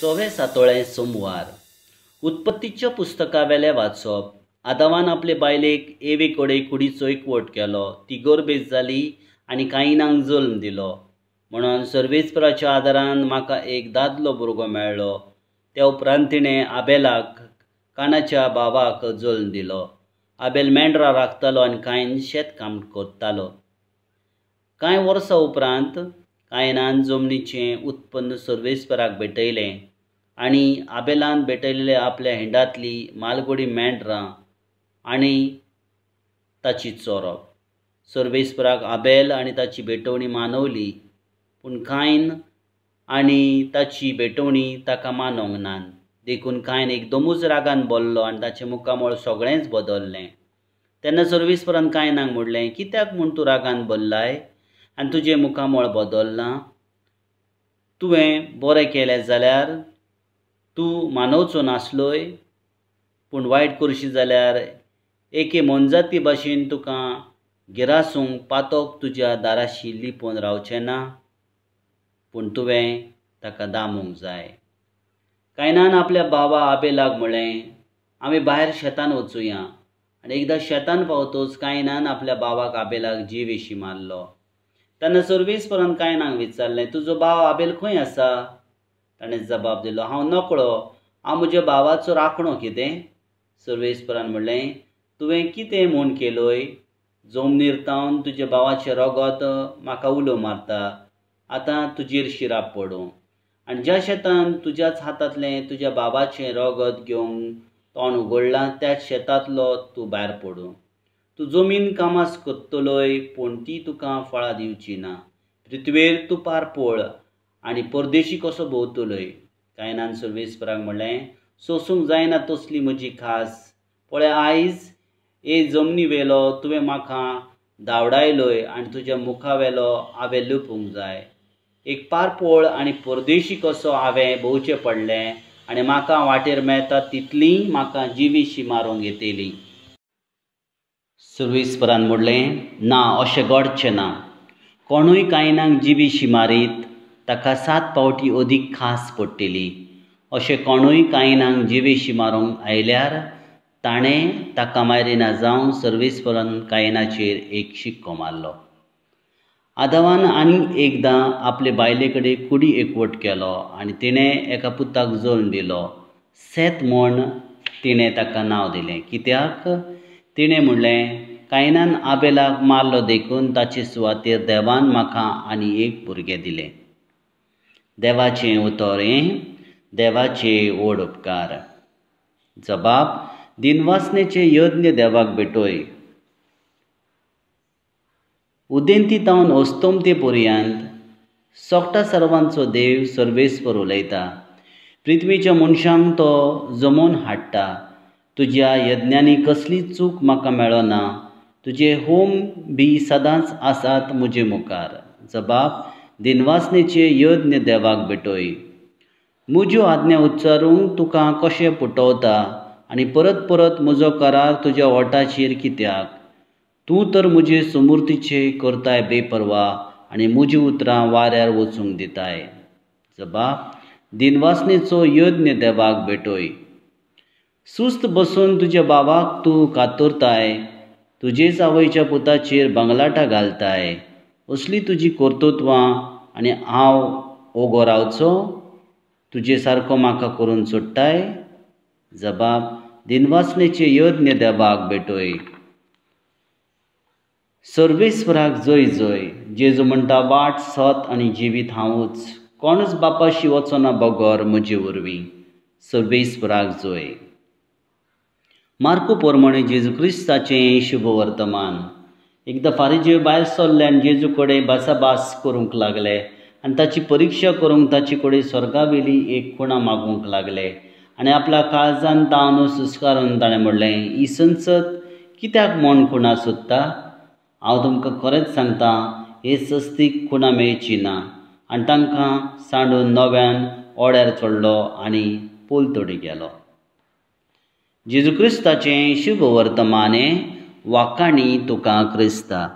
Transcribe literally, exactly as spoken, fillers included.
सवे सातोळें सोमवार. उत्पत्तीच्या पुस्तकावेलें वाचप. आदावान आपले बायलेक एवे कडेन कुडीचो एकवट केलो. ती गर्भेस्त जाली आनी कायिनाक जल्म दिलो. म्हणून सर्वेस्पराच्या आदारान म्हाका एक दादलो भुरगो मेळ्ळो. त्या उपरांत तिणें आबेलाक कानाच्या भावाक जल्म दिलो. आबेल मेंढरां राखतालो आनी कायन शेतकाम करतालो. कांय वर्सां उपरांत कायनान जमनीचें उत्पन्न सर्वेस्पराक भेटयलें आनी आबेलान भेटयल्ले आपल्या हिंडांतली मालगोडी मेंढरां आनी ताची चोरप. सर्वेस्पराक आबेल आनी ताची भेटवणी मानवली, पूण कायन आनी ताची भेटवणी ताका मानवंक ना. देखून कायन एकदमूच रागान बोल्लो आनी ताचें मुखामळ सगळेंच बदल्लें. तेन्ना सर्वेस्परान कायनाक म्हणलें, कित्याक म्हूण तूं रागान बल्लाय आनी तुजें मुखामळ बदल्लां? तुवें बरें केलें जाल्यार तूं मानवचो नासलोय, पूण वायट करशी जाल्यार एके मोनजाती भाशेन तुका गिरासूंक पातोक तुज्या दाराशी लिपोवन रावचें ना, पूण तुवें ताका दामूंक जाय. कायनान आपल्या भावा आबेलाक म्हणलें, आमी भायर शेतान वचुया. आनी एकदां शेतान पावतच कायनान आपल्या भावाक आबेलाक जिवेशी मारलो. तेन्ना सर्वेस्परान कायनाक विचारलें, तुजो भाव आबेल खंय आसा? ताणें जबाब दिलो, हांव नकळो, हांव म्हज्या भावाचो राखणो कितें? सर्वेस्परान म्हणलें, तुवें कितें म्हूण केलोय? जमनीर तावन तुज्या भावाचें रगत म्हाका उलो मारता. आतां तुजेर शिराप पडूं. आनी ज्या शेतान तुज्याच हातांतलें तुज्या बाबाचें रगत घेवंक तोंड उगडलां त्याच शेतांतलो तूं भायर पडूं. तूं जमीन कामास करतलोय, पूण ती तुका फळां दिवची ना. पृथ्वेर तूं पारपोळ आनी परदेशी कसो भोंवतलोय. कायनान सर्वेस्पराक म्हणलें, सोसूंक जायना तसली म्हजी खास. पळय, आयज हे जमनी वेलो तुवें म्हाका धांवडायलोय आनी तुज्या मुखावेलो हांवें लिपूंक जाय. एक पारपोळ आनी परदेशी कसो हांवें भोंवचें पडलें आनी म्हाका वाटेर मेळटा तितली म्हाका जिवीशी मारूंक येतली. सर्वेस्परान म्हणलें, ना, अशें घडचें ना. कोणूय कायनाक जिवीशी मारीत ताका सात पावटी अदीक खास पडटली. अशें कोणूय कायनाक जिवीशी मारूंक आयल्यार ताणें ताका मारिना जावन सर्वेस्परान कायनाचेर एक शिक्को मारलो. आदावान आनीक एकदां आपले बायले कडेन कुडी एकवट केलो आनी तिणें एका पुताक जल्म दिलो. सेत म्हूण तिणें ताका नांव दिलें, कित्याक तिणें म्हणलें, कायनान आबेलाक मारलो देखून ताचे सुवातेर देवान म्हाका आनी एक भुरगें दिलें. देवाचें उतर हें देवाचे व्हड उपकार. जबाब: दिनवासनेचे यज्ञ देवाक भेटय. उदेंती तावन अस्तमते पर्यंत सोगटा सर्वांचो देव सर्वेस्पर उलयता. पृथ्वीच्या मनशांक तो जमोवन हाडटा. तुज्या यज्ञांनी कसली चूक म्हाका मेळना. तुजे होम बी सदांच आसात म्हजे मुखार. जबाब: दिनवासनेचे यज्ञ देवाक भेटय. म्हज्यो आज्ञा उच्चारूंक तुका कशें पुटवता आनी परत परत म्हजो करार तुज्या ओठाचेर कित्याक? तूं तर म्हजे सुमूर्तीचे करताय बेपर्वा आनी म्हजी उतरां वाऱ्यार वचूंक दिताय. जबाब: दिनवासनेचो यज्ञ देवाक भेटय. सुस्त बसून तुज्या भावाक तूं कातरताय, तुजेच आवयच्या पुताचेर बंगलाटां घालताय. असली तुजी कर्तृत्वां आनी हांव ओगो रावचो? तुजे सारको म्हाका करून सोडटाय? जबाब: दिनवासनेचे यज्ञ देवाक भेटय. सर्वेस्पराक जय जय. जेजू म्हणटा, वाट, सत आनी जिवीत हांवूच. कोणूच बापाशी वचना बगर म्हजे वरवीं. सर्वेस्पराक जय. मार्को प्रमाणे जेजू क्रिस्ताचें शुभ वर्तमान. एकदां फारिजेव भायर सरले आनी जेजू कडेन भासाभास करूंक लागले आनी ताची परिक्षा करूंक ताचे कडेन स्वर्गावेली एक खुणा मागूंक लागले. आनी आपल्या काळजान तावन सुस्कारून ताणें म्हणलें, ही संसद कित्याक म्हूण खुणा सोदता? हांव तुमकां खरेंच सांगता, हे सस्तीक खुणा मेळची ना. आनी तांकां सांडून नव्यान ओड्यार चडलो आनी पलतडी गेलो. जेजू क्रिस्ताचें शुभ वर्तमान हें. वाखाणी तुका क्रिस्ता.